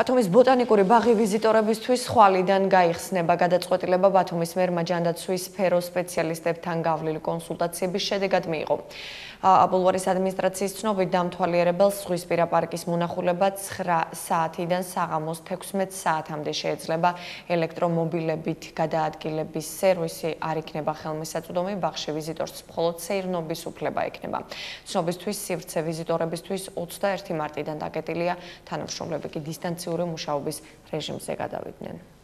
ბათუმის ბოტანიკური ბაღი ვიზიტორებისთვის ხვალიდან გაიხსნება. გადაწყვეტილება ბათუმის მერმა ჯანდაცვის სფეროს სპეციალისტებთან გავლილი კონსულტაციების შედეგად მიიღო. ბულვარის ადმინისტრაციის ცნობით დამთვალიერებელს ზღვისპირა პარკის მონახულება 9 საათიდან საღამოს 16 საათამდე შეეძლება. ელექტრომობილებით გადაადგილების სერვისი არ იქნება ხელმისაწვდომი, ბაღში ვიზიტორს მხოლოდ სეირნობის უფლება ექნება. ცნობისთვის სივრცე ვიზიტორებისთვის 21 მარტიდან დაკეტილია, თანამშრომლები კი დისტანციური მუშაობის რეჟიმზე გადავიდნენ.